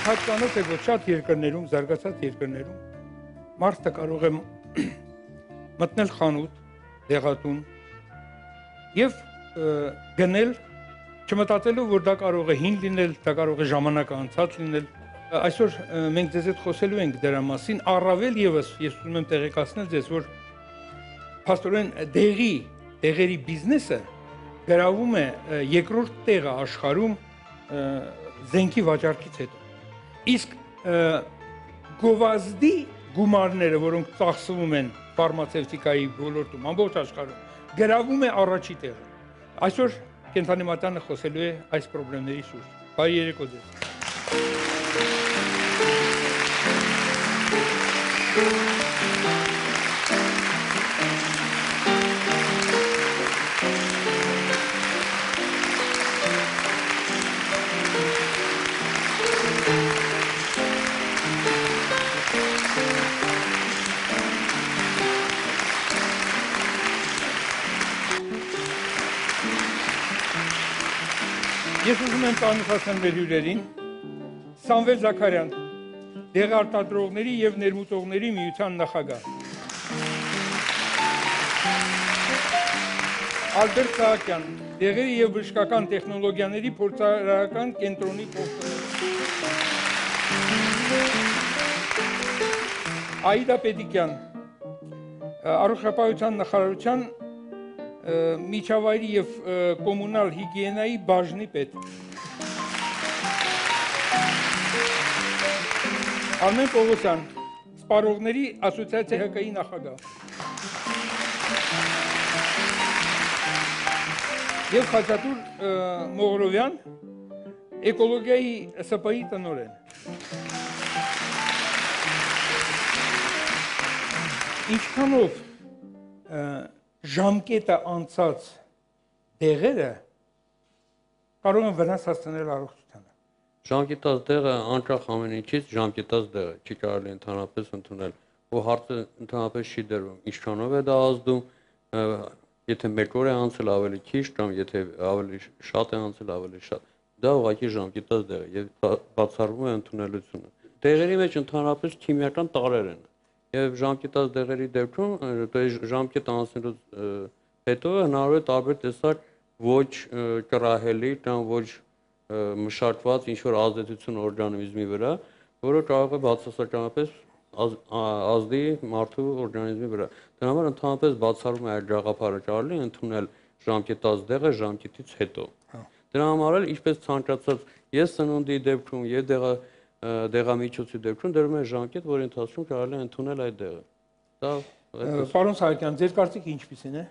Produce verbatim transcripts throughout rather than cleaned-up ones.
Հատկանոց է, որ շատ երկրներում, զարգացած երկրներում մարդը կարող է մտնել խանութ, դեղատուն եւ գնել, չմտածելով, որ դա կարող է հին լինել, դա կարող է ժամանակը անցած լինել։ Այսօր մենք ձեզ հետ խոսելու ենք դրա մասին, առավել եւս ես ուզում եմ տեղեկացնել ձեզ, որ փաստորեն դեղի, դեղերի բիզնեսը գրավում է երկրորդ տեղը աշխարհում զենքի վաճառքից հետո։ Իսկ գովազդի գումարները, որոնք ծախսվում են ֆարմացևտիկայի ոլորտում, ամբողջ աշխարհում, գրավում է առաջի տեղը։ Այսօր Կենդանի մատանը խոսելու է այս խնդիրների շուրջ։ Բարի երեկո ձեզ։ Ես ուզում եմ ծանոթացնել մեր հյուրերին, Սամվել Զաքարյան, դեղարտադրողների եւ ներմուծողների միության նախագահ, Ալբերտ Սահակյան, դեղերի եւ բժշկական տեխնոլոգիաների փորձարարական կենտրոնի փոխտնօրեն, Աիդա Պետիկյան, Առողջապահության նախարարության միջավայրի եւ կոմունալ հիգիենայի բաժնի պետ, Արմեն Պողոսյան, սպառողների ասոցիացիայի Հ Կ I նախագահ եւ Խաչատուր Մողրովյան, էկոլոգիայի С П I տնօրեն։ Ինչքանով ժամկետը անցած դեղերը կարող են վնաս հասցնել առողջությանը։ Ժամկետած դեղը անկախ ամեն ինչից ժամկետած դեղը չի կարելի ընդհանրապես ընդունել, ու հարցը ընդհանրապես չի դրվում, ինչքանով է դա ազդում, եթե մեկ օր է անցել ավելի քիչ կամ եթե ավելի շատ է անցել ավելի շատ։ Դա ուղղակի ժամկետած դեղ է եւ բացառվում է ընդունելությունը։ Դեղերի մեջ ընդհանրապես քիմիական տարրեր են։ Եվ ժամկետած դեղերի դեպքում ժամկետը անցնելուց հետո հնարավոր է տարբեր տեսակ ոչ կռահելի կամ ոչ մշակված ինչ-որ ազդեցություն օրգանիզմի վրա, որը կարող է բացասականապես ազդի մարդու օրգանիզմի վրա։ Դրա համար ընդհանրապես բացառվում է այդ գաղափարը կարելի ընդունել ժամկետած դեղը ժամկետից հետո։ Դրա համար էլ ինչպես ցանկացած ես սնունդի դեպքում եւ դեղա դեղամիջոցի դեպքում դրում է ժամկետ, որի ընթացքում կարելի է ընդունել այդ դեղը։ Դա Պարոն Սահակյան, ձեր կարծիքը ինչպիսին է։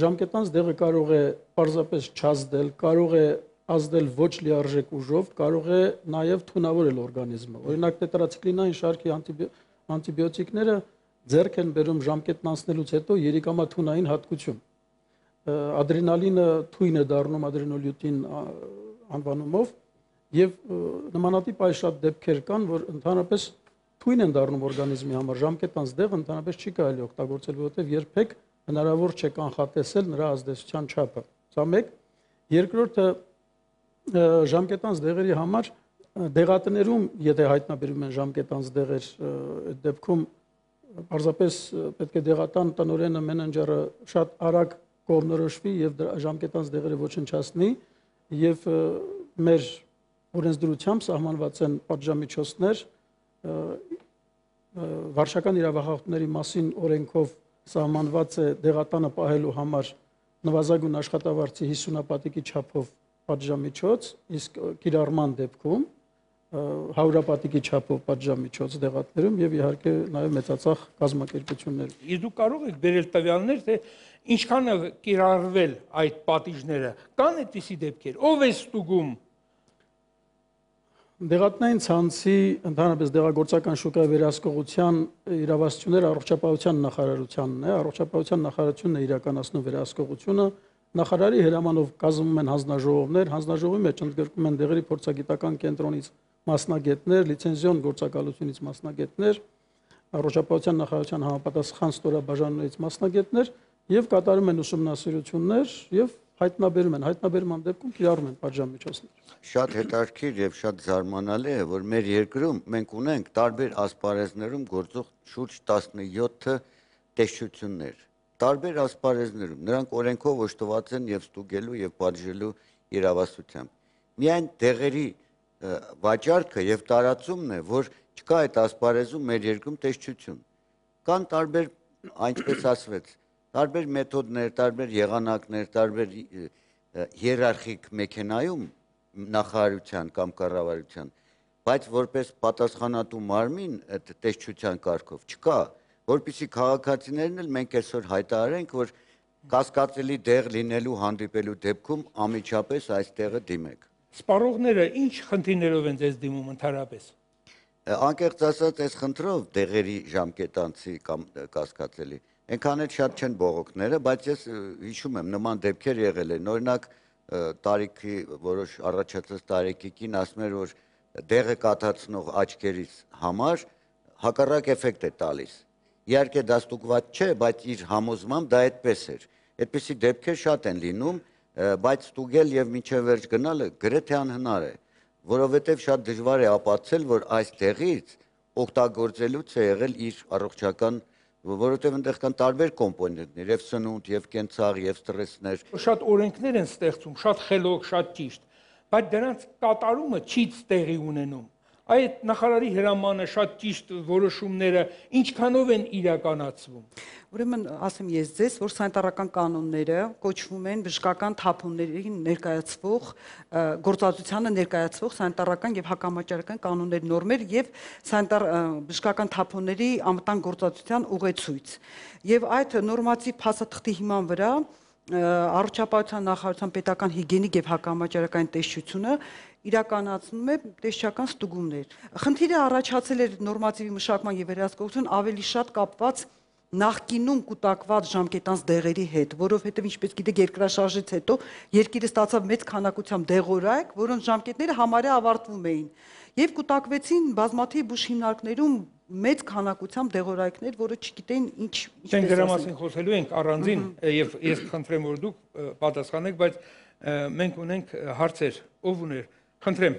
Ժամկետանց դեղը կարող է պարզապես չազդել, կարող է ազդել ոչ լիարժեք ուժով, կարող է նաև թունավորել օրգանիզմը։ Օրինակ տետրացիկլինային շարքի անտիբիոտիկները ձեռք են բերում ժամկետն անցնելուց հետո երիկամաթունային հատկություն։ Ադրենալինը թույն է դառնում ադրենոլյուտին անվանումով, եւ նմանատիպ այս շատ դեպքեր կան, որ ընդհանրապես թույն են դառնում օրգանիզմի համար, ժամկետանց դեղը ընդհանրապես չի կարելի օգտագործել, որովհետեւ երբեք հնարավոր չէ կանխատեսել նրա ազդեցության չափը։ Սա մեկ, երկրորդը ժամկետանց դեղերի համար դեղատներում, եթե հայտնաբերում են ժամկետանց դեղեր, այդ դեպքում պարզապես պետք է դեղատան տնօրենը, մենեջերը շատ արագ կողմնորոշվի եւ ժամկետանց դեղերը ոչնչացնի եւ մեր օրենսդրությամբ սահմանված են պատժամիջոցներ, վարչական իրավախախտումների մասին օրենքով սահմանված է դեղատանը պահելու համար նվազագույն աշխատավարձի հիսունապատիկի չափով պատժամիջոց, իսկ կիրառման դեպքում հարյուրապատիկի չափով պատժամիջոց դեղատներում եւ իհարկե նաեւ մեծածախ կազմակերպություններ։ Իսկ դուք կարող եք բերել տվյալներ, թե ինչքան է կիրառվել այդ պատիժները, կան այդպիսի դեպքեր, ով է ստուգում։ Դեղատնային ցանցի ընդհանրապես դեղագործական շուկայի վերահսկողության իրավասությունները առողջապահության նախարարությանն է, առողջապահության նախարարությունն է իրականացնում վերահսկողությունը, նախարարի հրամանով կազմվում են հանձնաժողովներ, հանձնաժողովի մեջ ընդգրկում են դեղերի փորձագիտական կենտրոնից մասնագետներ, լիցենզիոն գործակալությունից մասնագետներ, առողջապահության նախարարության համապատասխան ստորաբաժանումներից մասնագետներ եւ կատարում են ուսումնասիրություններ եւ հայտնաբերում են, հայտնաբերման դեպքում կիրառում են պատժամիջոցներ։ Շատ հետաքրքիր եւ շատ զարմանալի է, որ մեր երկրում մենք ունենք տարբեր ասպարեզներում գործող շուրջ տասնյոթ տեսչություններ։ Տարբեր ասպարեզներում նրանք օրենքով օժտված են եւ ստուգելու եւ պատժելու իրավասությամբ։ Միայն դեղերի վաճառքը եւ տարածումն է, որ չկա այդ ասպարեզում մեր երկրում տեսչություն։ Կան տարբեր, այնպես ասվեց, տարբեր մեթոդներ, տարբեր եղանակներ, տարբեր հիերարխիկ մեքենայում նախարարության կամ կառավարության, բայց որպես պատասխանատու մարմին այդ տեսչության կարգով չկա, որպեսզի քաղաքացիներն էլ մենք այսօր հայտարարենք, որ կասկածելի դեղ լինելու հանդիպելու դեպքում անմիջապես այս տեղը դիմեք։ Սպառողները ինչ խնդիրներով են ձեզ դիմում ընդհանրապես։ Անկեղծ ասած, այս խնդրով դեղերի ժամկետանցի կամ կասկածելի այնքան էլ շատ չեն բողոքները, բայց ես հիշում եմ նման դեպքեր եղել են, օրինակ տարիքի որոշ առաջացած տարիքի կին ասում էր, որ դեղը կաթացնող աչքերից համար հակառակ էֆեկտ է տալիս։ Իհարկե դա ստուգված չէ, բայց իր համոզմամբ դա այդպես էր։ Այդպիսի դեպքեր շատ են լինում, բայց ստուգել եւ մինչեւ վերջ գնալը գրեթե անհնար է, որովհետեւ շատ դժվար է ապացուցել, որ այս դեղից օգտագործելուց է եղել իր առողջական, որովհետև այնտեղ կան տարբեր կոմպոնենտներ, եւ սնունդ, եւ կենցաղ, եւ ստրեսներ։ Շատ օրենքներ են ստեղծում, շատ խելոք, շատ ճիշտ, բայց դրանց կատարումը չի տեղի ունենում։ Այդ նախարարի հրամանը, շատ ճիշտ որոշումները ինչքանով են իրականացվում։ Ուրեմն ասեմ ես ձեզ, որ սանիտարական կանոնները կոչվում են բժշկական թափոններին ներկայացվող գործածությանը ներկայացվող սանիտարական եւ հակամաճարական կանոններ, նորմեր եւ սանիտար բժշկական թափոնների անվտանգ գործածության ուղեցույց։ Եվ այդ նորմատիվ փաստաթղթի հիման վրա առողջապահության նախարարության պետական հիգիենիկ եւ հակամաճարակային տեսչությունը իրականացնում է տեսչական ստուգումներ։ Խնդիրը առաջացել էր նորմատիվի մշակման եւ վերահսկողություն ավելի շատ կապված նախկինում կուտակված ժամկետանց դեղերի հետ, որովհետև ինչպես գիտեք, երկրաշարժից հետո երկիրը ստացավ մեծ քանակությամբ դեղորայք, որոնց ժամկետները համարյա ավարտվում էին, եւ կուտակվեցին բազմաթիվ բուժ հիմնարկներում մեծ քանակությամբ դեղորայքներ, որը չգիտեն ինչ ինչպես դրա մասին խոսելու ենք առանձին եւ ես խնդրեմ, որ դուք պատասխանեք, բայց մենք ունենք հարցեր, ով ուներ, խնդրեմ։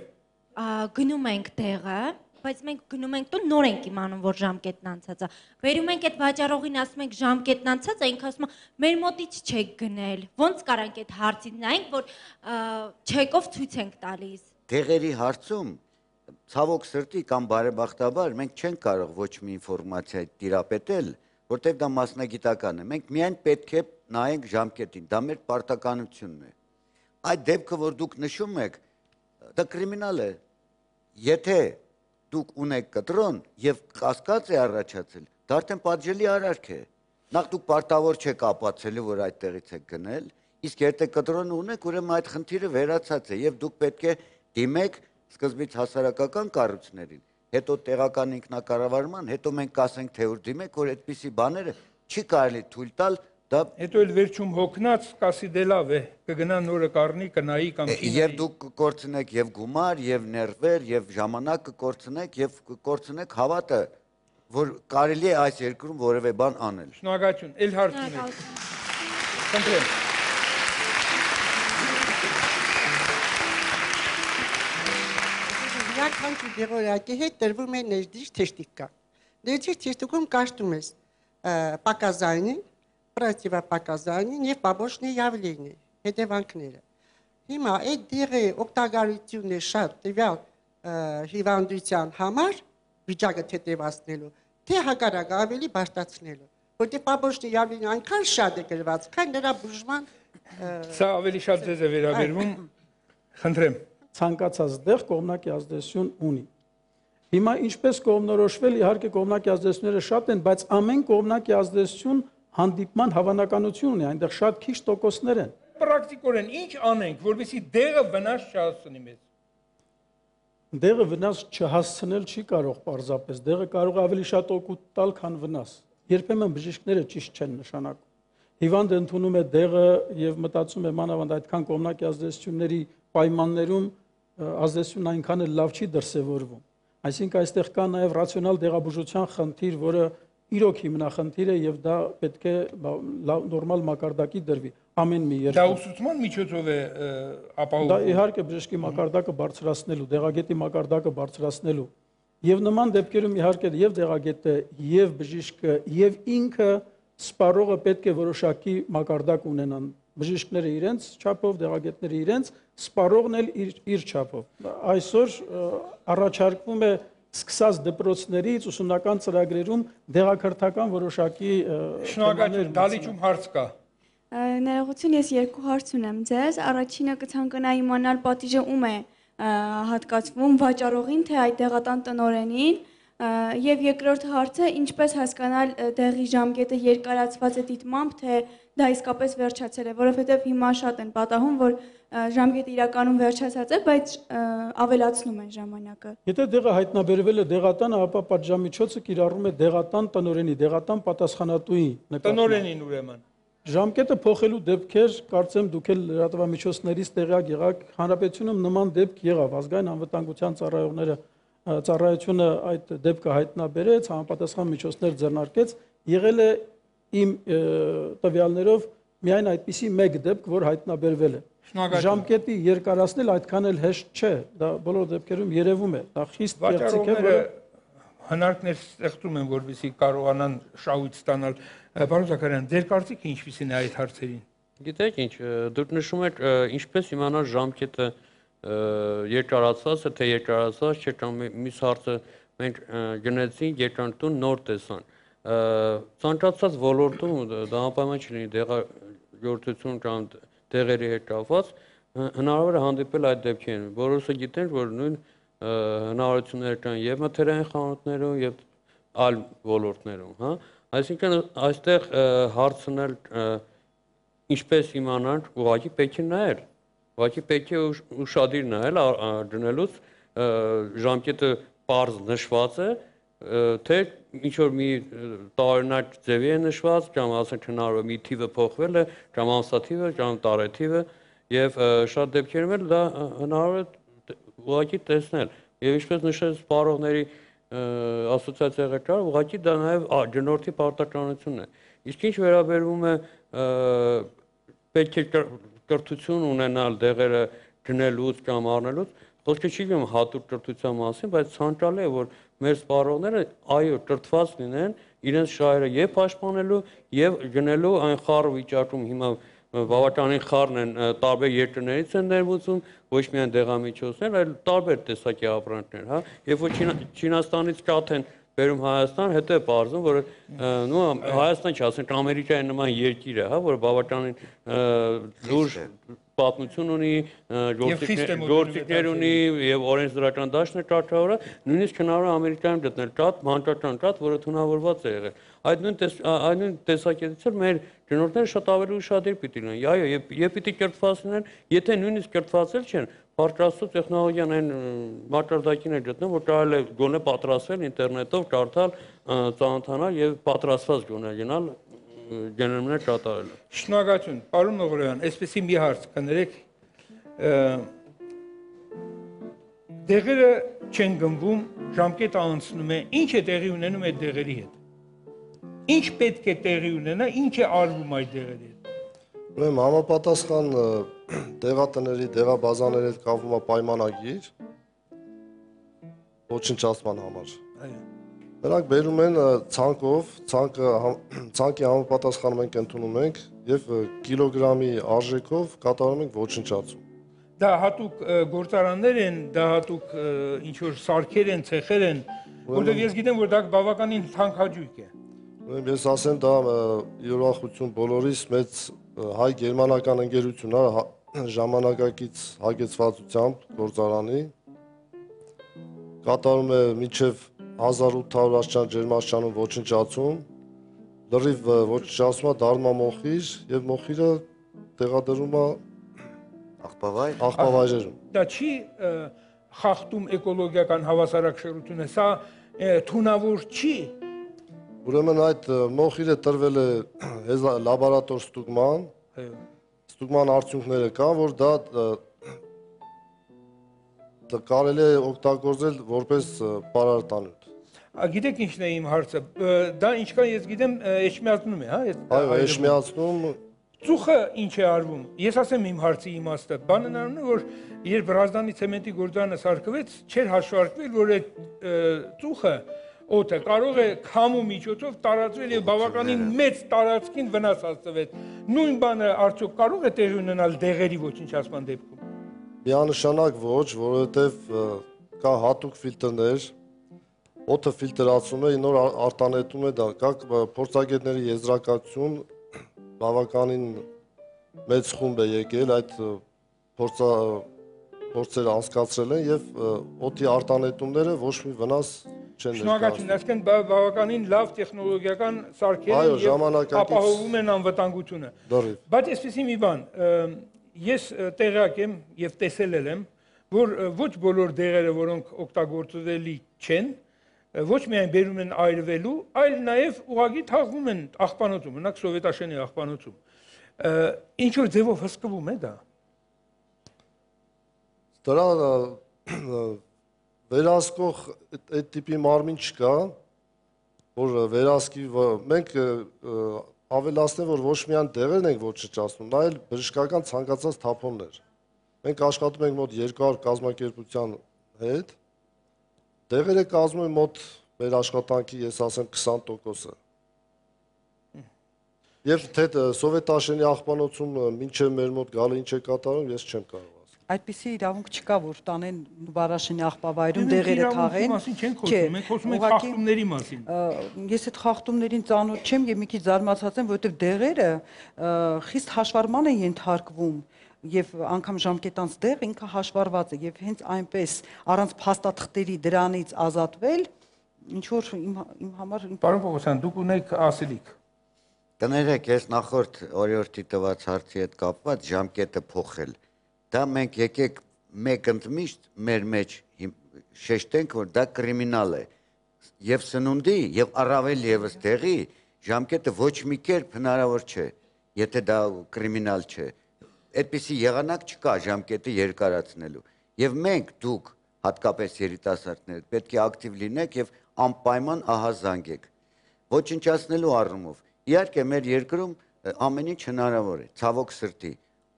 Գնում ենք դեղը, բայց մենք գնում ենք տուն, նոր ենք իմանում, որ ժամկետն անցած է։ Վերում ենք այդ վաճառողին, ասում ենք ժամկետն անցած է, ինքը ասում է մեր մոտից չեք գնել։ Ոնց կարանք այդ հարցին նայենք, որ չեկով ցույց ենք տալիս։ Դեղերի հարցում ցավոք սրտի կամ բարեբախտաբար մենք չենք կարող ոչ մի ինֆորմացիա տիրապետել, որտեղ դա մասնագիտական է։ Մենք միայն պետք է նայենք ժամկետին, դա մեր պարտականությունն է։ Այդ դեպքը, որ դուք նշում եք, դա կրիմինալ է։ Եթե դուք ունեք կտրոն եւ կասկած է առաջացել, դա արդեն պատժելի արարք է։ Նախ դուք պարտավոր չեք ապացուցելու, որ այդտեղից եք գնել, իսկ եթե կտրոնը ունեք, ուրեմն այդ խնդիրը վերացած է եւ դուք պետք է դիմեք սկզբից հասարակական կառույցներին, հետո տեղական ինքնակառավարման, հետո մենք կասենք, թե ուր դիմեք, որ այդպիսի բաները չի կարելի թույլ տալ, դա հետո էլ վերջում հոգնած կասի դե լավ է, կգնա նորը կառնի, կնայի կամ չի։ Եվ դուք կկորցնեք եւ գումար, եւ ներվեր, եւ ժամանակ կկորցնեք եւ կկորցնեք հավատը, որ կարելի է այս երկրում որևէ բան անել։ Շնորհակալություն, ել հարց ունեք։ Խնդրեմ։ Յուրաքանչյուր դեղորայքի հետ տրվում է ներդիր թեշտիկա։ Ներդիր թեշտիկում կաշտում ես պակազայնին, պրատիվապակազայնին եւ պաբոշնի явление, հետևանքները։ Հիմա այդ դեղի օգտագործությունը շատ տվյալ հիվանդության համար վիճակը թեթևացնելու, թե հակառակ ավելի բարձրացնելու, որտեղ պաբոշնի явление այնքան շատ է գրված, քան նրա բուժման Սա ավելի շատ ձեզ է վերաբերվում։ Խնդրեմ։ Ցանկացած դեղ կողմնակի ազդեցություն ունի։ Հիմա ինչպես կողմնորոշվել, իհարկե կողմնակի ազդեցությունները շատ են, բայց ամեն կողմնակի ազդեցություն հանդիպման հավանականություն ունի, այնտեղ շատ քիչ տոկոսներ են։ Պրակտիկորեն ինչ անենք, որովհետեւ դեղը վնաս չհասցնի մեզ։ Դեղը վնաս չհասցնել չի կարող պարզապես, դեղը կարող է ավելի շատ օգուտ տալ, քան վնաս։ Երբեմն բժիշկները ճիշտ չեն նշանակում։ Հիվանդը ընդունում է դեղը եւ մտածում է մանավանդ այդքան կողմնակի ազդեցությունների պայմաններում ազդեցությունն այնքան էլ լավ չի դրսևորվում։ Այսինքն այստեղ կա նաեւ ռացիոնալ դեղաբուժության խնդիր, որը իրոք հիմնախնդիր է եւ դա պետք է նորմալ մակարդակի դրվի ամեն մի Դա երկրում։ ուսուցման միջոցով է ը, Դա ապահովում։ իհարկե բժշկի մակարդակը բարձրացնելու, դեղագետի մակարդակը բարձրացնելու եւ նման դեպքերում իհարկե եւ դեղագետը եւ բժիշկը եւ ինքը սպառողը պետք է որոշակի մակարդակ ունենան։ Բժիշկները իրենց չափով, դեղագետները իրենց, սպառողն էլ իր իր չափով։ Այսօր առաջարկվում է սկսած դպրոցներից ուսումնական ծրագրերում դեղակրթական որոշակի Շնորհակալ, դալիճում հարց կա։ Ներողություն, ես երկու հարց ունեմ ձեզ։ Առաջինը կցանկանայի իմանալ պատիժը ում է հատկացվում վաճառողին, թե այդ դեղատան տնօրենին, եւ երկրորդ հարցը ինչպես հասկանալ դեղի ժամկետը երկարացված է դիտմամբ, թե դա իսկապես վերջացել է, որովհետեւ հիմա շատ են պատահում, որ ժամկետը իրականում վերջացած է, բայց ավելացնում են ժամանակը։ Եթե դեղը հայտնաբերվել է դեղատանը, ապա պատժամիջոցը կիրառում է դեղատան տնօրենի, դեղատան պատասխանատուի նկատմամբ։ Տնօրենին ուրեմն։ Ժամկետը փոխելու դեպքեր, կարծեմ դուք էլ լրատվամիջոցներից տեղյակ եղաք, հանրապետությունում նման դեպք եղավ, ազգային անվտանգության ծառայողները ծառայությունը այդ դեպքը հայտնաբերեց, համապատասխան միջոցներ ձեռնարկեց, եղել է իմ տվյալներով միայն այդպիսի մեկ դեպք, որ հայտնաբերվել է։ Ժամկետի երկարացնել այդքան էլ հեշտ չէ, դա բոլոր դեպքերում երևում է, դա խիստ գեղեցիկ է, որը հնարքներ ստեղծում են, որպեսզի կարողանան շահույթ ստանալ։ Պարոն Զաքարյան, ձեր կարծիքը ինչպիսին է այդ հարցերին։ Գիտեք ինչ, դուք նշում եք ինչպես իմանալ ժամկետը երկարացած է, թե երկարացած չէ, կամ մյուս հարցը մենք գնացինք երկրանտուն նոր տեսան։ Ցանկացած ոլորտում դա անպայման չլինի դեղագործություն կամ դեղերի հետ կապված, հնարավոր է հանդիպել այդ դեպքերին։ Որոշը գիտենք, որ նույն հնարավորություններ կան եւ մթերային խանութներում եւ այլ ոլորտներում, հա։ Այսինքն այստեղ հարցնել ինչպես իմանանք, ուղղակի պետք է նայել, ուղղակի պետք է ուշադիր նայել դնելուց ժամկետը պարզ նշված է, թե ինչ որ մի տարօրինակ ձևի է նշված, կամ ասենք հնարավոր է մի թիվը փոխվել է, կամ ամսաթիվը, կամ տարեթիվը, եւ շատ դեպքերում էլ դա հնարավոր է ուղղակի տեսնել։ Եվ ինչպես նշեց սպառողների ասոցիացիա ղեկավար, ուղղակի դա նաև գնորդի պարտականությունն է։ Իսկ ինչ վերաբերվում է պետք է կրթություն ունենալ դեղերը գնելուց կամ առնելուց, խոսքը չի գնում հատուկ կրթության մասին, բայց ցանկալի է, որ մեր սպառողները այո կրթված լինեն, իրենց շահերը եւ պաշտպանելու եւ գնելու այն խառը վիճակում հիմա բավականին խառն են տարբեր երկրներից են ներմուծում, ոչ միայն դեղամիջոցներ, այլ տարբեր տեսակի ապրանքներ, հա, երբ որ Չինաստանից կաթ են բերում Հայաստան, հետո է պարզում, որ նո Հայաստան չի, ասենք Ամերիկայի նման երկիր է, հա, որ բավականին լուրջ պատմություն ունի, գործիքներ ունի եւ օրենսդրական դաշտն է կարգավորը, նույնիսկ հնարավոր է Ամերիկայում գտնել կաթ, մանկական կաթ, որը թունավորված է եղել։ Այդ նույն այդ նույն տեսակետից էլ մեր գնորդները շատ ավելի ուշադիր պիտի լինեն։ Այո, եւ պիտի կրթված լինեն, եթե նույնիսկ կրթված էլ չեն, Փառք տեխնոլոգիան այն մակարդակին է գտնում, որ կարելի է գոնե պատրաստվել ինտերնետով, կարդալ, ծանոթանալ եւ պատրաստված գոնե գնալ գներներ կատարել։ Շնորհակալություն, պարոն Մողրոյան, այսպեսի մի հարց կներեք, դեղերը չեն գնվում, ժամկետը անցնում է, ինչ է տեղի ունենում այդ դեղերի հետ։ Ինչ պետք է տեղի ունենա, ինչ է արվում այդ դեղերի հետ։ Ուրեմն համապատասխան դեղատների, դեղաբազաների հետ կապվում է պայմանագիր ոչնչացման համար։ Նրանք բերում են ցանկով, ցանկը ցանկի համապատասխանում ենք ընդունում ենք եւ կիլոգրամի արժեքով կատարում ենք ոչնչացում։ Դա հատուկ գործարաններ են, դա հատուկ ինչ որ սարքեր են, ցեխեր են, որտեղ ես գիտեմ, որ դա բավականին թանկաճույք է։ Ուրեմն ես ասեմ, դա յուրախություն բոլորիս մեծ հայ-գերմանական ընկերություն է ժամանակակից հագեցվածությամբ գործարանի կատարում է մինչև հազար ութ հարյուր աստիճան ջերմաստիճանում ոչնչացում, լրիվ ոչնչացումը դառնում է մոխիր եւ մոխիրը տեղադրում է աղբավայր աղբավայրերում։ Դա չի խախտում էկոլոգիական հավասարակշռությունը, սա թունավոր չի։ Ուրեմն այդ մոխիրը տրվել է լաբորատոր ստուգման, ստուգման արդյունքները կան, որ դա կարելի է օգտագործել որպես պարարտանյութ։ Գիտեք ինչն է իմ հարցը։ Դա ինչքան ես գիտեմ, էջմիածնում է, հա? Այո, էջմիածնում։ Ծուխը ինչ է արվում։ Ես ասեմ իմ հարցի իմաստը։ Բանն առնում է, որ երբ Ռազդանի ցեմենտի գործարանը սարքվեց, չէր հաշվարկվել, որ այդ ծուխը օդը կարող է քամու միջոցով տարածվել եւ բավականին մեծ տարածքին վնաս հասցվել։ Նույն բանը արդյոք կարող է տեղի ունենալ դեղերի ոչնչացման դեպքում։ Միանշանակ ոչ, որովհետեւ կա հատուկ ֆիլտրներ, օդը ֆիլտրացում է, նոր արտանետում է դա, կա փորձագետների եզրակացություն, բավականին մեծ խումբ է եկել այդ փորձա փորձերը անցկացրել են եւ օդի արտանետումները ոչ մի վնաս չեն ներկայացնում։ Շնորհակալություն, այսինքն բավականին լավ տեխնոլոգիական սարքեր են եւ ապահովում են անվտանգությունը։ Բայց այսպեսի մի բան, ես տեղյակ եմ եւ տեսել եմ, որ ոչ բոլոր դեղերը, որոնք օգտագործելի չեն, ոչ միայն բերում են այրվելու, այլ նաև ուղղակի թաղվում են աղբանոցում, մենակ սովետաշենի աղբանոցում։ Ինչ որ ձևով հսկվում է դա։ Դրա վերահսկող այդ տիպի մարմին չկա, որ վերահսկի, մենք ավելացնենք, որ ոչ միայն դեղերն ենք ոչնչացնում, այլ բժշկական ցանկացած թափոններ։ Մենք աշխատում ենք մոտ երկու հարյուր կազմակերպության հետ, դեղերը կազմում են մոտ մեր աշխատանքի, ես ասեմ, քսան տոկոսը։ Եվ թե սովետաշենի աղբանոցում մինչև մեր մոտ գալը ինչ է կատարում, ես չեմ կարող ասել։ Այդպիսի իրավունք չկա, որ տանեն Վարաշենի աղբավայրում դեղերը թաղեն։ Մենք խոսում ենք խախտումների մասին։ Ես այդ խախտումներին ծանոթ չեմ եւ մի քիչ զարմացած եմ, որովհետեւ դեղերը խիստ հաշվառման են ենթարկվում եւ անգամ ժամկետանց դեղ ինքը հաշվառված է եւ հենց այնպես առանց փաստաթղթերի դրանից ազատվել ինչ որ իմ համար Պարոն Պողոսյան, դուք ունեք ասելիք։ Կներեք, ես նախորդ օրիորդի տված հարցի հետ կապված ժամկետը փոխել։ Դա մենք եկեք մեկ ընդմիշտ մեր մեջ շեշտենք, որ դա կրիմինալ է։ Եվ սնունդի, եւ առավել եւս տեղի ժամկետը ոչ մի կերպ հնարավոր չէ, եթե դա կրիմինալ չէ։ Այդպիսի եղանակ չկա ժամկետը երկարացնելու։ Եվ մենք դուք, հատկապես երիտասարդներ, պետք է ակտիվ լինեք եւ անպայման ահազանգեք։ Ոչնչացնելու առումով։ Իհարկե մեր երկրում ամեն ինչ հնարավոր է, ցավոք սրտի,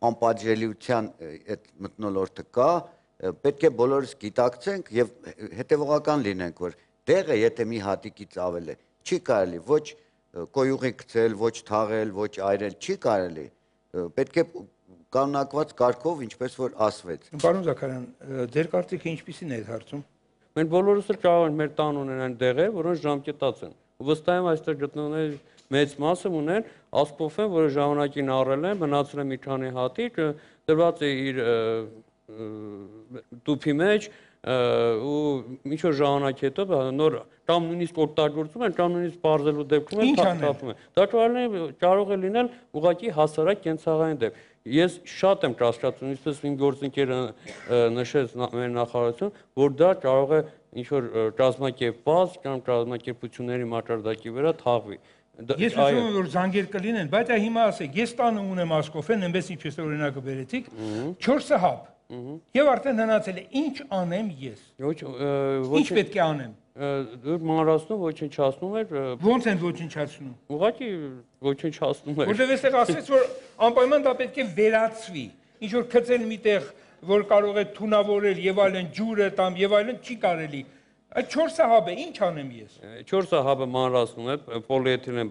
անպատժելիության այդ մթնոլորտը կա, պետք է բոլորս գիտակցենք եւ հետեւողական լինենք, որ դեղը եթե մի հատիկից ավել է, չի կարելի ոչ կոյուղի գցել, ոչ թաղել, ոչ այրել, չի կարելի։ Պետք է կանոնակված կարգով, ինչպես որ ասվեց։ Պարոն Զաքարյան, ձեր կարծիքը ինչպիսին է այդ հարցում։ Մենք բոլորս էլ կարող ենք մեր տան ունենալ դեղեր, որոնց ժամկետած են։ Վստահ եմ այստեղ գտնողների մեծ մասը ունեն ասպոֆեն, որը ժամանակին առել են, մնացել է մի քանի հատիկ, դրված է իր տուփի մեջ ու ինչ որ ժամանակ հետո նոր կամ նույնիսկ օգտագործում են, կամ նույնիսկ բարձելու դեպքում են թափում են։ Դա կարող է լինել ուղղակի հասարակ կենցաղային դեպք։ Ես շատ եմ կասկածում, ինչպես իմ գործընկերը նշեց մեր նախարարություն, որ դա կարող է ինչ-որ կազմակերպված կամ կազմակերպությունների մակարդակի վրա թաղվի։ Ես ուզում եմ, որ զանգեր կլինեն, բայց հիմա ասեք, ես տանը ունեմ ասկոֆեն, այնպես ինչպես օրինակը բերեցիք, չորսը հապ, եւ արդեն հնացել է, ինչ անեմ ես։ Ինչ պետք է անեմ։ Դուք մանրացնում, ոչնչացնում եք։ Ո՞նց են ոչնչացնում։ Ուղղակի ոչնչացնում եք։ Որտեղ էստեղ ասեց, որ անպայման դա պետք է վերացվի։ Ինչ որ գցել միտեղ, որ կարող է թունավորել եւ այլն, ջուրը տամ եւ այլն չի կարելի։ Այդ չորսը հաբը ինչ անեմ ես։ Չորսը հաբը մանրացնում է, պոլիէթիլեն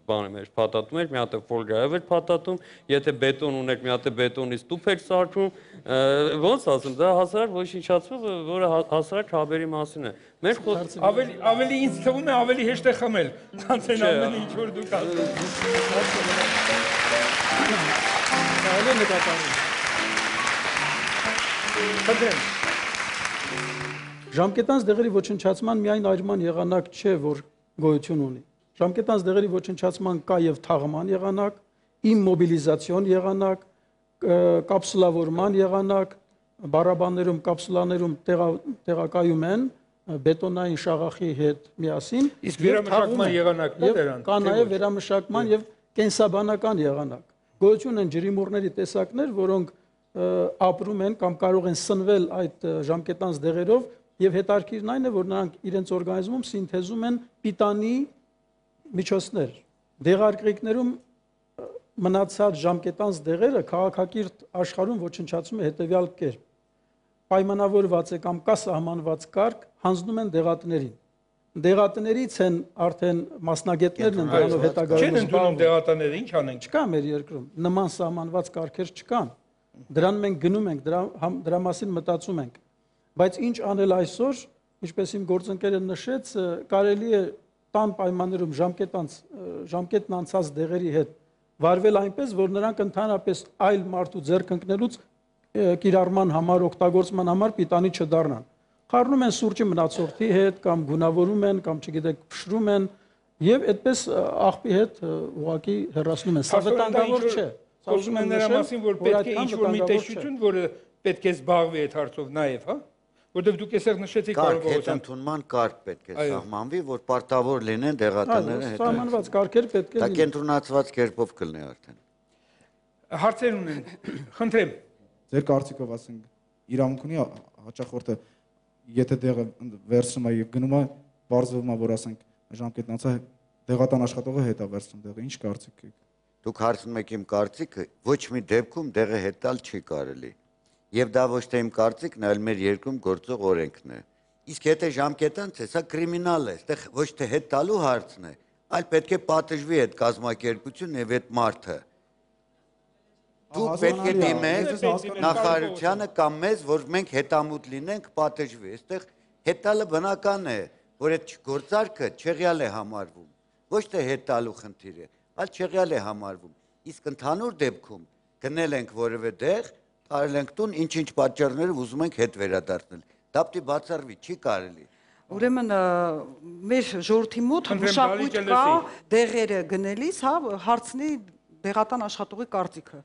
բանը մեջ փաթաթում եք, մի հատ է ֆոլգայով եք փաթաթում, եթե բետոն ունեք, մի հատ է բետոնից տուփ եք սարքում, ոնց ասում, դա հասարակ ոչնչացում, որը հասարակ հաբերի մասին է։ Մենք ավելի ավելի ինձ թվում է ավելի հեշտ է խմել, քան այն ամենը ինչ որ դուք ասում։ Ժամկետանց դեղերի ոչնչացման միայն այրման եղանակ չէ, որ գոյություն ունի։ Ժամկետանց դեղերի ոչնչացման կա եւ թաղման եղանակ, իմմոբիլիզացիոն եղանակ, կապսուլավորման եղանակ, բարաբաններում, կապսուլաներում տեղակայում են բետոնային շաղախի հետ միասին, իսկ վերամշակման եղանակն է դրանց։ Կա նաեւ վերամշակման եւ կենսաբանական եղանակ։ Գոյություն են ջրիմուռների տեսակներ, որոնք ապրում են կամ կարող են սնվել այդ ժամկետանց դեղերով եւ հետարքիրն այն է, որ նրանք իրենց օրգանիզմում սինթեզում են պիտանի միջոցներ։ Դեղարկղիկներում մնացած ժամկետանց դեղերը քաղաքակիրթ աշխարհում ոչնչացում է հետեւյալ կերպ. պայմանավորված է կամ կա սահմանված կարգ, հանձնում են դեղատներին։ Դեղատներից են արդեն մասնագետներն են դրանով հետագայում Չեն ընդունում դեղատները, ինչ անենք։ Չկա մեր երկրում, նման սահմանված կարգեր չկան։ Դրան մենք գնում ենք, դրա, դրա մասին մտածում ենք։ Բայց ինչ անել այսօր, ինչպես իմ գործընկերը նշեց, կարելի է տան պայմաններում ժամկետանց ժամկետն անցած դեղերի հետ վարվել այնպես, որ նրանք ընդհանրապես այլ մարդու ձեռք ընկնելուց կիրառման համար, օգտագործման համար պիտանի չդառնան։ Խառնում են սուրճի մնացորդի հետ կամ գունավորում են կամ չգիտեք փշրում են եւ այդպես աղբի հետ ուղակի հեռացնում են։ Սա վտանգավոր չէ։ Խոսում են նրա մասին, որ պետք է ինչ-որ մի տեսություն, որը պետք է զբաղվի այդ հարցով նաեւ, հա։ Որտեւ դուք այսեղ նշեցիք կարողության ընդունման կարգ պետք է սահմանվի, որ պարտավոր լինեն դեղատները հետ։ Սահմանված կարգեր պետք է լինեն։ Դա կենտրոնացված կերպով կլինի արդեն։ Հարցեր ունեն։ Խնդրեմ։ Ձեր կարծիքով ասենք իրավունք ունի հաճախորդը, եթե դեղը վերցնում է եւ գնում է, բարձվում է, որ ասենք ժամկետն անցա դեղատան աշխատողը հետ է վերցնում դեղը, ինչ կարծիք եք։ Դուք հարցնում եք իմ կարծիքը, ոչ մի դեպքում դեղը հետալ չի կարելի։ Եվ դա ոչ թե իմ կարծիքն է, այլ մեր երկրում գործող օրենքն է։ Իսկ եթե ժամկետանց է, սա կրիմինալ է, այստեղ ոչ թե հետ տալու հարցն է, այլ պետք է պատժվի այդ կազմակերպությունն եւ այդ մարդը։ Դուք պետք է դիմեք նախարարությանը կամ մեզ, որ մենք հետամուտ լինենք, պատժվի։ Այստեղ հետալը բնական է, որ այդ գործարքը չեղյալ է համարվում։ Ոչ թե հետալու խնդիր է, այլ չեղյալ է համարվում։ Իսկ ընդհանուր դեպքում գնել ենք որևէ դեղ, տարել ենք տուն, ինչ-ինչ պատճառներով ուզում ենք հետ վերադարձնել։ Դա պետք է բացառվի, չի կարելի։ Ուրեմն մեր ժողովրդի մոտ մշակույթ կա դեղերը գնելիս, հա, հարցնի դեղատան աշխատողի կարծիքը։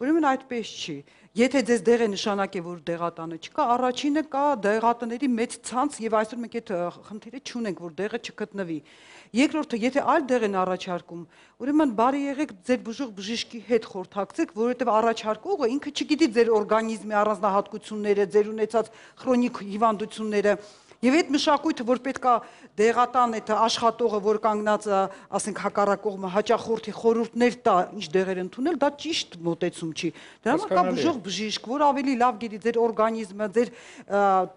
Ուրեմն այդպես չի։ Եթե ձեզ դեղ է նշանակե, որ դեղատանը չկա, առաջինը կա դեղատների մեծ ցանց եւ այսօր մենք այդ խնդիրը չունենք, որ դեղը չգտնվի։ Երկրորդը, եթե այլ դեղ են առաջարկում, ուրեմն բարի եղեք ձեր բուժող բժիշկի հետ խորհրդակցեք, որովհետեւ առաջարկողը ինքը չգիտի ձեր օրգանիզմի առանձնահատկությունները, ձեր ունեցած քրոնիկ հիվանդությունները։ Եվ այդ մշակույթը, որ պետքա դեղատան այդ աշխատողը, որ կանգնած, ասենք, հակառակողմը հաճախորդի խորհուրդներ տա, ինչ դեղեր ընդունել, դա ճիշտ մոտեցում չի։ Դրա համար կա բուժող բժիշկ, որ ավելի լավ գիտի ձեր օրգանիզմը, ձեր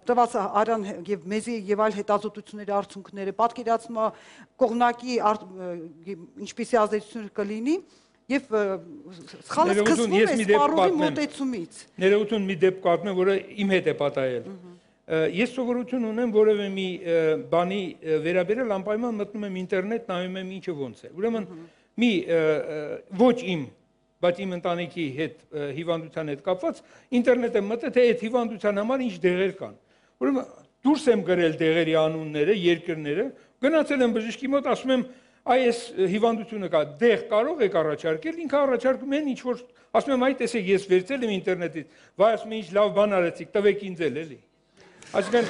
տված արյան եւ մեզի եւ այլ հետազոտությունների արդյունքները, պատկերացումը կողմնակի ինչպիսի ազդեցություն կլինի եւ սխալը սկսվում է սպառողի մոտեցումից։ Ներողություն, մի դեպք պատմեմ, որը իմ հետ է պատահել։ Ես սովորություն ունեմ որևէ մի բանի վերաբերել անպայման մտնում եմ ինտերնետ, նայում եմ ինչը ոնց է։ Ուրեմն մի ոչ իմ, բայց իմ ընտանիքի հետ հիվանդության հետ կապված ինտերնետ եմ մտել, թե այդ հիվանդության համար ինչ դեղեր կան։ Ուրեմն դուրս եմ գրել դեղերի անունները, երկրները, գնացել եմ բժշկի մոտ, ասում եմ, այս հիվանդությունը կա, դեղ կարող եք առաջարկել, ինքը առաջարկում են ինչ որ, ասում եմ, այ տեսեք, ես վերցել եմ ինտերնետից, վայ, ասում եմ, ինչ լավ բան արեցիք, տվեք ինձ էլ, էլի։ Այսինքն,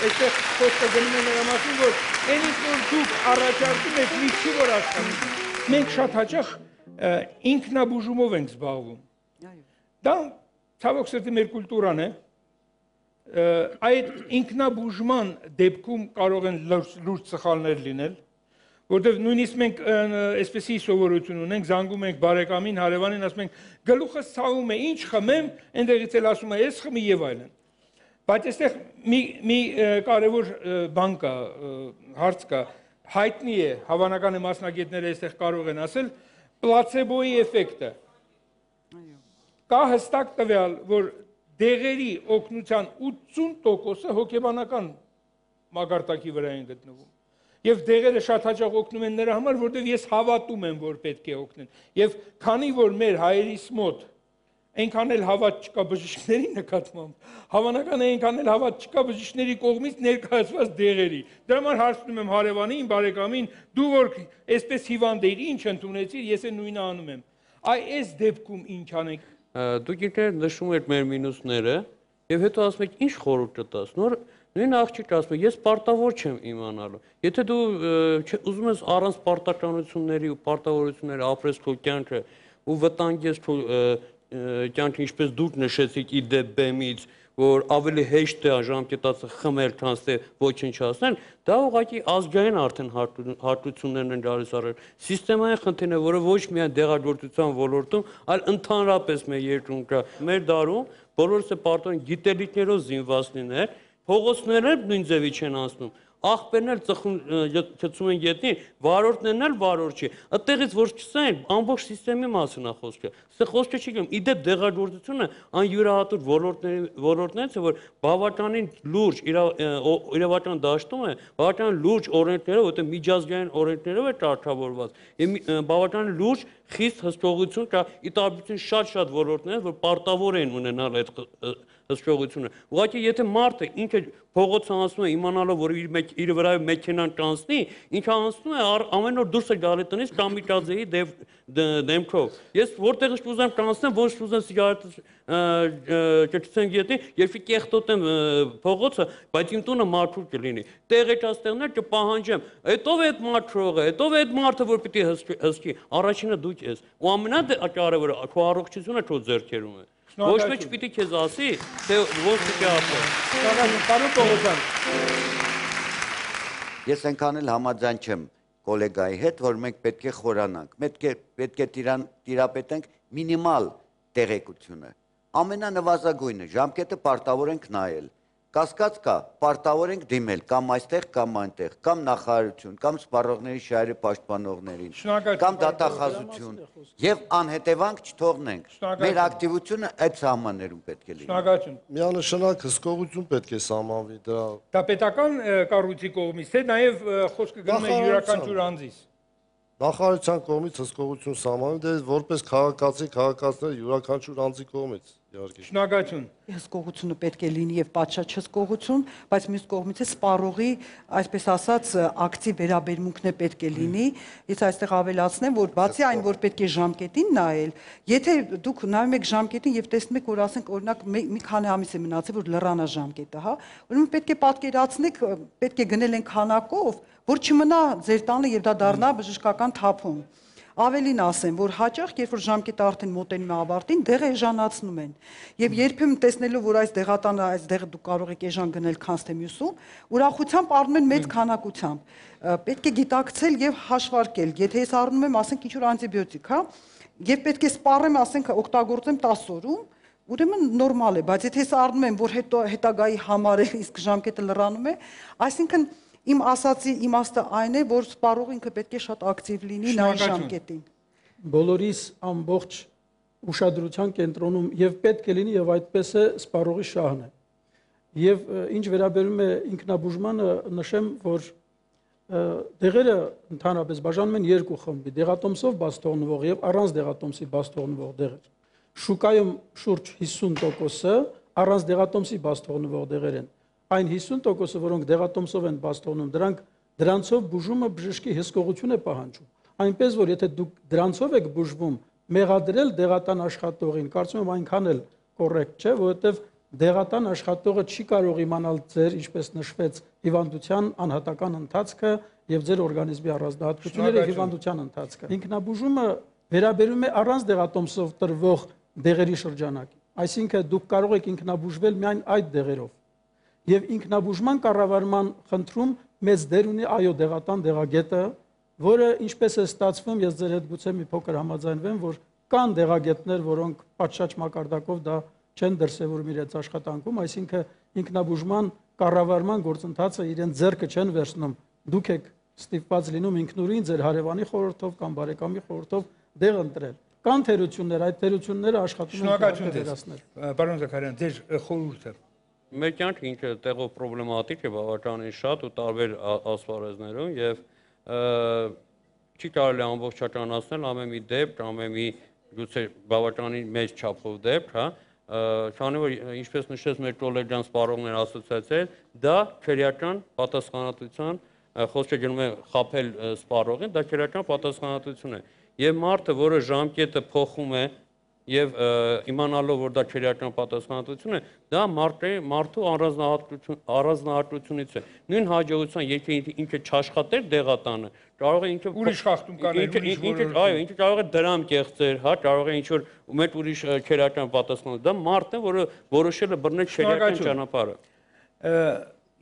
այստեղ խոսքը գնում է նրա մասին, որ այն ինչ որ դուք առաջարկում եք, մի չի որ աշխատում։ Մենք շատ հաճախ ինքնաբուժումով ենք զբաղվում։ Դա ցավոք սրտի մեր կուլտուրան է։ Այդ ինքնաբուժման դեպքում կարող են լուրջ սխալներ լինել, որտեղ նույնիսկ մենք այսպեսի սովորություն ունենք, զանգում ենք բարեկամին, հարևանին, ասում ենք, գլուխս ցավում է, ինչ խմեմ, այնտեղից էլ ասում է, ես խմի եւ այլն։ Բայց այստեղ մի կարևոր բան կա, հարց կա, հայտնի է, հավանական է մասնագետները այստեղ կարող են ասել, պլացեբոյի էֆեկտը։ Կա հստակ տվյալ, որ դեղերի օգնության ութսուն տոկոսը հոգեբանական մակարդակի վրա են գտնվում։ Եվ դեղերը շատ հաճախ օգնում են նրա համար, որտեղ ես հավատում եմ, որ պետք է օգնեն։ Եվ քանի որ մեր հայերիս մոտ այնքան էլ հավատ չկա բժիշկների նկատմամբ, հավանական է այնքան էլ հավատ չկա բժիշկների կողմից ներկայացված դեղերի։ Դրա համար հարցնում եմ հարևանին, բարեկամին, դու որ այսպես հիվանդ էիր, ինչ ընդունեցիր, ես էլ նույնը անում եմ։ Այ այս դեպքում ինչ անենք։ Դուք ինքներդ նշում եք մեր մինուսները, եւ հետո ասում եք ինչ խորհուրդ տաս։ Նոր նույն աղջիկը ասում է, ես պարտավոր չեմ իմանալու։ Եթե դու ուզում ես առանց պարտականությունների ու պարտավորությունների ապրես քո կյանքը ու վտանգես քո կյանքը, ինչպես դուք նշեցիք, ի դեպ բեմից որ ավելի հեշտ է ժամկետացը խմել, քան թե ոչնչացնել, դա ուղղակի ազգային արդեն հարթություններն են գալիս առել։ Սիստեմային խնդիրն է, որը ոչ միայն դեղագործության ոլորտում, այլ ընդհանրապես մեր երկրում կա։ Մեր դարում բոլորս է պարտորեն գիտելիքներով զինված լինել, փողոցները նույն ձևի չեն անցնում։ Աղբերն էլ ծխում են գետնին, վարորդներն էլ վարորդ չի։ Այդտեղից որ չսեն, ամբողջ սիստեմի մասին է խոսքը։ Սա խոսքը չի գնում։ Իդեպ դեղագործությունը այն յուրահատուկ ոլորտներից է, որ բավականին լուրջ իրավական դաշտում է, բավականին լուրջ օրենքներով, որտեղ միջազգային օրենքներով է կարգավորված, եւ բավականին լուրջ խիստ հսկողություն կա ի տարբերություն շատ-շատ ոլորտներից, որ պարտավոր են ունենալ այդ հսկողությունը։ Ուղղակի եթե մարդը ինքը փողոցը անցնում է իմանալով, որ իր իր վրայով մեքենան կանցնի, ինքը անցնում է ամեն օր դուրս է գալի տնից կամիկաձեի դեմքով։ Ես որտեղից ուզեմ կանցնեմ, ոչ ուզեմ սիգարետ կճցեմ գետի, երբ կեղտոտեմ փողոցը, բայց իմ տունը մաքուր կլինի։ Տեղեկած տեղներ կպահանջեմ։ Հետո է այդ մաքրողը, հետո է այդ մարդը, որ պիտի հսկի։ Առաջինը դուք ես։ Ու ամենակարևորը քո առողջությունը քո ձեռքերում է։ Ոչ մեկ չպիտի քեզ ասի, թե ո՞ր պիտի ասել։ Պարոն Պողոսյան։ Ես այնքան էլ համաձայն չեմ կոլեգայի հետ, որ մենք պետք է խորանանք, պետք է պետք է տիրապետենք մինիմալ տեղեկությունը։ Ամենանվազագույնը ժամկետը պարտավոր ենք նայել։ Կասկած կա, պարտավոր ենք դիմել կամ այստեղ, կամ այնտեղ, կամ նախարարություն, կամ սպառողների շահերի պաշտպանողներին, կամ դատախազություն, եւ անհետևանք չթողնենք։ Մեր ակտիվությունը այդ սահմաններում պետք է լինի։ Շնորհակալություն։ Միանշանակ հսկողություն պետք է սահմանվի դրա։ Դա պետական կառույցի կողմից է, նաեւ խոսքը գնում է յուրաքանչյուր անձից։ Նախարարության կողմից հսկողություն սահմանվում, դե որպես քաղաքացի, քաղաքացիներ յուրաքանչյուր անձի կողմից, իհարկե։ Շնորհակալություն։ Հսկողությունը պետք է լինի եւ պատշաճ հսկողություն, բայց մյուս կողմից է սպառողի, այսպես ասած, ակտիվ վերաբերմունքն է պետք է լինի։ Ես այստեղ ավելացնեմ, որ բացի այն, որ պետք է ժամկետին նայել, եթե դուք նայում եք ժամկետին եւ տեսնում եք, որ ասենք օրինակ մի քանի ամիս է մնացել, որ լրանա ժամկետը, հա, ուրեմն պետք է պատկերացնեք, պետք է գնել են քանակով, որ չմնա ձեր տանը եւ դա դառնա բժշկական թափում։ Ավելին ասեմ, որ հաճախ, երբ որ ժամկետը արդեն մոտենում է ավարտին, դեղը էժանացնում են։ Եվ երբեմն տեսնելով, որ այս դեղատանը, այս դեղը դուք կարող եք էժան գնել, քան թե մյուսում, ուրախությամբ առնում են մեծ քանակությամբ։ Պետք է գիտակցել եւ հաշվարկել։ Եթե ես առնում եմ, ասենք, ինչ-որ անտիբիոտիկ, հա, եւ պետք է սպառեմ, ասենք, օգտագործեմ տասը օրում, ուրեմն նորմալ է, բայց եթե ես առնում եմ, որ հետո հետագայի համար է, իսկ ժամկետը լրանում է, այսինքն իմ ասացի իմաստը այն է, որ սպառողը ինքը պետք է շատ ակտիվ լինի նայ ժամկետին։ Բոլորիս ամբողջ ուշադրության կենտրոնում եւ պետք է լինի եւ այդպես է սպառողի շահն է։ Եվ ինչ վերաբերում է ինքնաբուժմանը, նշեմ, որ դեղերը ընդհանրապես բաժանում են երկու խմբի՝ դեղատոմսով բաց թողնվող եւ առանց դեղատոմսի բաց թողնվող դեղեր։ Շուկայում շուրջ հիսուն տոկոսը առանց դեղատոմսի բաց թողնվող դեղեր են։ Այն հիսուն տոկոսը, որոնք դեղատոմսով են բաց թողնում, դրանք դրանցով բուժումը բժշկի հսկողություն է պահանջում։ Այնպես որ եթե դուք դրանցով եք բուժվում, մեղադրել դեղատան աշխատողին, կարծում եմ այնքան էլ կոռեկտ չէ, որովհետև դեղատան աշխատողը չի կարող իմանալ ձեր, ինչպես նշվեց, հիվանդության անհատական ընթացքը եւ ձեր օրգանիզմի առանձնահատկությունները եւ հիվանդության ընթացքը։ Ինքնաբուժումը վերաբերում է առանց դեղատոմսով տրվող դեղերի շրջանակին։ Այսինքն դուք կարող եք ինքնաբուժվել միայն այդ դեղերով։ Եվ ինքնաբուժման կառավարման խնդրում մեծ դեր ունի այո դեղատան դեղագետը, որը ինչպես է ստացվում, ես ձեր հետ գուցե մի փոքր համաձայնվեմ, որ կան դեղագետներ, որոնք պատշաճ մակարդակով դա չեն դրսևորում իրենց աշխատանքում, այսինքն ինքնաբուժման կառավարման գործընթացը իրեն ձեռքը չեն վերցնում։ Դուք եք ստիպված լինում ինքնուրույն ձեր հարևանի խորհրդով կամ բարեկամի խորհրդով դեղ ընտրել։ Կան թերություններ, այդ թերությունները աշխատում են վերացնել։ Պարոն Զաքարյան, ձեր խորհուրդը։ Մեր կյանքը ինքը տեղով պրոբլեմատիկ է բավականին շատ ու տարբեր ասպարեզներում եւ չի կարելի ամբողջականացնել ամեն մի դեպք, ամեն մի գուցե բավականին մեծ չափով դեպք, հա, քանի որ ինչպես նշեց մեր կոլեգան սպառողներ ասոցիացիայի, դա քրեական պատասխանատվության խոսքը գնում է խաբել սպառողին, դա քրեական պատասխանատվություն է։ Եվ մարդը, որը ժամկետը փոխում է եւ իմանալով որ դա քրեական պատասխանատվություն է, դա մարդու առանձնահատկություն առանձնահատկությունից է։ Նույն հաջողության եթե ինքը չաշխատեր դեղատանը, կարող է ինքը ուրիշ խախտում կանել, ուրիշ որոշում։ Այո, ինքը կարող է դրամ կեղծեր, հա, կարող է ինչ-որ մեծ ուրիշ քրեական պատասխանատվություն։ Դա մարդն է, որը որոշել է բռնել քրեական ճանապարհը։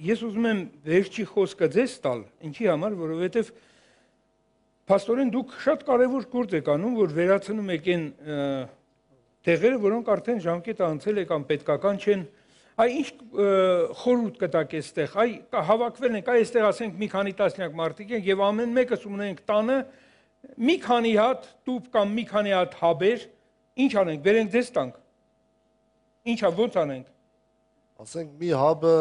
Ես ուզում եմ վերջի խոսքը ձեզ տալ, ինչի համար, որովհետև փաստորեն դուք շատ կարևոր գործ եք անում, որ վերացնում եք այն տեղերը, որոնք արդեն ժամկետը անցել է կամ պետքական չեն։ Այ ինչ խորհուրդ կտակ այստեղ, այ հավաքվել ենք, այ այստեղ ասենք մի քանի տասնյակ մարդիկ են եւ ամեն մեկս ունենք տանը մի քանի հատ տուփ կամ մի քանի հատ հաբեր, ինչ անենք, բերենք ձեզ տանք։ Ինչա ո՞նց անենք։ Ասենք մի հաբը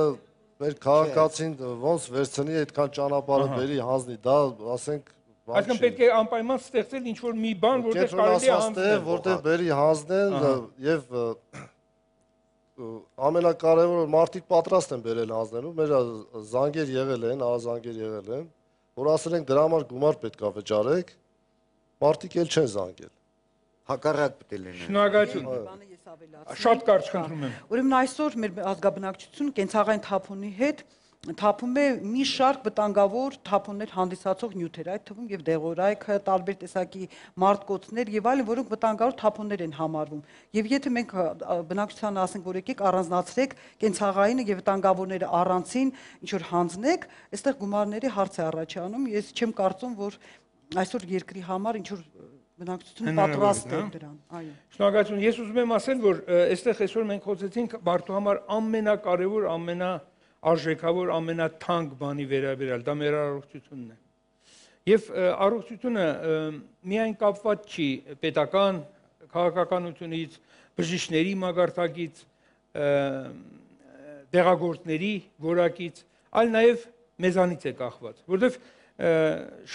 մեր քաղաքացին ոնց վերցնի այդքան ճանապարհը բերի հանձնի, դա ասենք Այսինքն պետք է անպայման ստեղծել ինչ-որ մի բան, որտեղ կարելի է հանձնել, որտեղ բերի հանձնեն եւ ամենակարևորը մարդիկ պատրաստ են բերել հանձնելու, մեր զանգեր եղել են, ահազանգեր եղել են, որ ասել են դրա համար գումար պետք է վճարեք, մարդիկ էլ չեն զանգել։ Հակառակ պետք է լինի։ Շնորհակալություն։ Շատ կարճ խնդրում եմ։ Ուրեմն այսօր մեր ազգաբնակչությունը կենցաղային թափոնի հետ թափում է մի շարք վտանգավոր թափոններ հանդիսացող նյութեր, այդ թվում եւ դեղորայքը, տարբեր տեսակի մարտկոցներ եւ այլն, որոնք վտանգավոր թափոններ են համարվում։ Եվ եթե մենք բնակչությանը ասենք, որ եկեք առանձնացրեք կենցաղայինը եւ վտանգավորները առանցին ինչ որ հանձնեք, այստեղ գումարների հարց է առաջանում։ Ես չեմ կարծում, որ այսօր երկրի համար ինչ որ բնակչությունը պատրաստ է դրան։ Այո։ Շնորհակալություն։ Ես ուզում եմ ասել, որ այստեղ այսօր մենք խոսեցինք մարդու համար ամենակարևոր, ամենա արժեքավոր ամենաթանկ բանի վերաբերյալ, դա մեր առողջությունն է։ Եվ առողջությունը միայն կապված չի պետական քաղաքականությունից, բժիշկների մագարտակից, դեղագործների որակից, այլ նաև մեզանից է կախված, որովհետև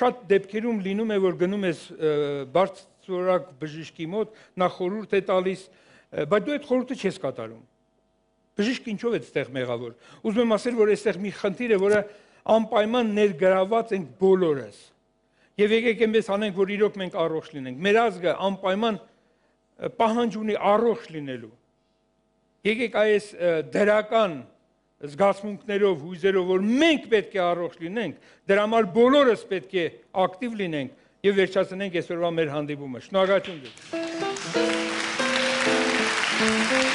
շատ դեպքերում լինում է, որ գնում ես բարձրորակ բժիշկի մոտ, նա խորհուրդ է տալիս, բայց դու այդ խորհուրդը չես կատարում։ Բժիշկը ինչով է այդտեղ մեղավոր։ Ուզում եմ ասել, որ այստեղ մի խնդիր է, որը անպայման ներգրաված ենք բոլորս։ Եվ եկեք այնպես անենք, որ իրոք մենք առողջ լինենք։ Մեր ազգը անպայման պահանջ ունի առողջ լինելու։ Եկեք այս դրական զգացմունքներով, հույզերով, որ մենք պետք է առողջ լինենք, դրա համար բոլորս պետք է ակտիվ լինենք եւ վերջացնենք այսօրվա մեր հանդիպումը։ Շնորհակալություն։